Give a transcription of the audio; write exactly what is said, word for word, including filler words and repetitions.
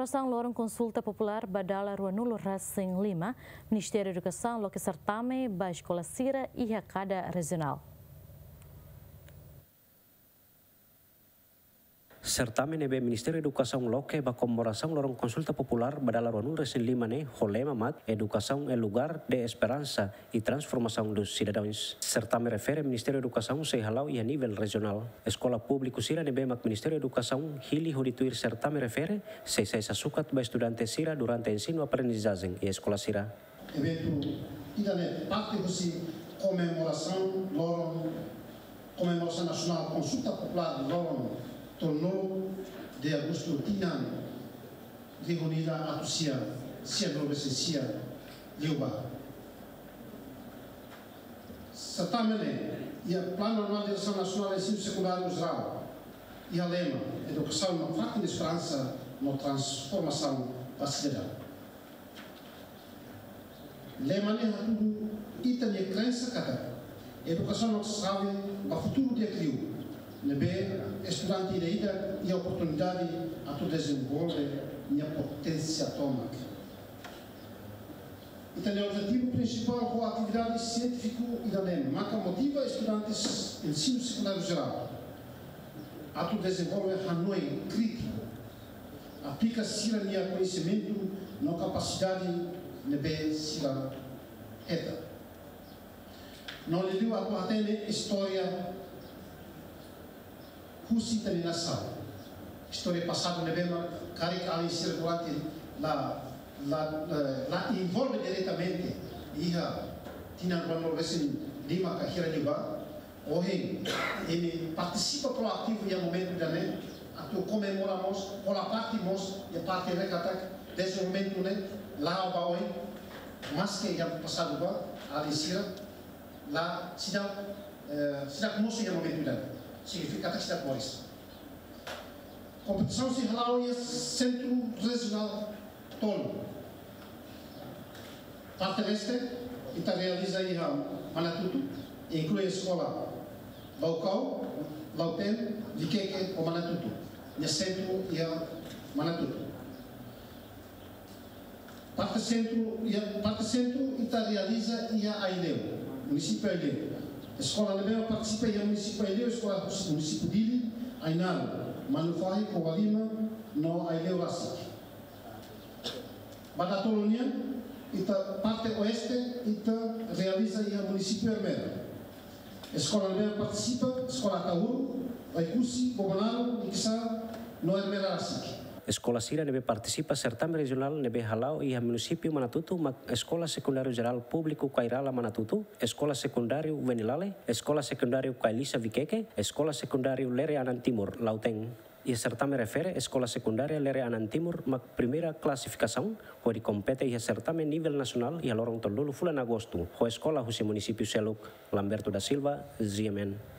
Loron konsulta populár ba dala ruanulu resin lima, Ministériu Edukasaun loke sertame ba eskola sira iha kada rejionál. Sertame ne'ebé Ministériu Edukasaun loke ba komemorasaun loron konsulta populár ba dala ruanulu resin lima ne'e ho lema mak Educação é lugar de esperança e transformação dos cidadãos. Sertame refere Ministériu Edukasaun sei hala'o iha nivel rejionál. Eskola públiku sira ne'ebé mak Ministériu Edukasaun hili hodi tuir sertame refere sei sai sasukat ba estudante sira durante ensinu aprendizajen iha eskola sira. Eventu ida-ne'e parte husi komemorasaun loron, komemorasaun nasionál konsulta populár loron tolunulu de agostu tinan rihun ida atus sia sianulu resin sia liubá. Sertame ne'e iha Planu Anuál Diresaun Nasionál Ensinu Sekundáriu Jerál, iha lema Edukasaun no Fatin Esperansa no Transformasaun ba Sidadaun. Lema ne'e hatudu ita-nia krensa katak edukasaun maka xave ba futuru di'ak liu, ne'ebé estudante ida-idak iha oportunidade atu dezenvolve nia poténsia tomak. Ita-nia objetivu prinsipál ho atividade sientífiku ida-ne'e maka motiva estudantes ensinu sekundáriu jerál atu dezenvolve hanoin krítiku, aplika sira-nia koñesimentu no kapasidade ne'ebé sira hetan. No liuliu atu hatene istória husi ita-nia nasaun. Istória pasadu ne'ebé mak karik alin sira durante la, la, la, la envolve diretamente iha tinan ruanulu resin lima ka hira liubá. Ohin, imi partisipa proativu iha momentu ida-ne'e, atu komemora mós, hola parte mós, iha parte ne'e katak, dezenvolvimentu ne'e, la'o ba oin, maske iha pasadu ba, alin sira, la, seidauk, eh, seidauk mosu iha momentu ida-ne'e, signifika katak seidauk moris. Kompetisaun sei hala'o iha sentru rejionál tolu. Parte leste, ita realiza iha Manatutu, inklui eskola Baucau, Lautém, Viqueque ho Manatutu. Nia sentru iha Manatutu. Parte sentru, iha, parte sentru ita realiza iha Aileu, munisípiu Aileu. Eskola ne'ebé partisipa iha munisípiu Aileu, eskola munisípiu Dili, Ainaro, Manufahi, Covalima, no Aileu rasik. Ba datolun nian, ita parte oeste, ita realiza iha munisípiu Ermera. Eskola ne'ebé partisipa, eskola Ataúro, Oekusi, Bobonaro, Likisá, no Ermera rasik. Eskola sira ne'ebé partisipa sertame rejionál ne'ebé hala'o iha munisípiu Manatutu mak Eskola Sekundáriu Jerál Públiku Kairala Manatutu, Eskola Sekundáriu Venilale, Eskola Sekundáriu Kailisa Viqueque, Eskola Sekundáriu Lere Anan Timur, Lautém. Iha sertame refere, Eskola Sekundária Lere Anan Timur mak primeira klasifikasaun, hodi kompete iha sertame nivel nasionál iha loron tolunulu fulan agostu, ho eskola husi munisípiu seluk. Lamberto da Silva, G M N.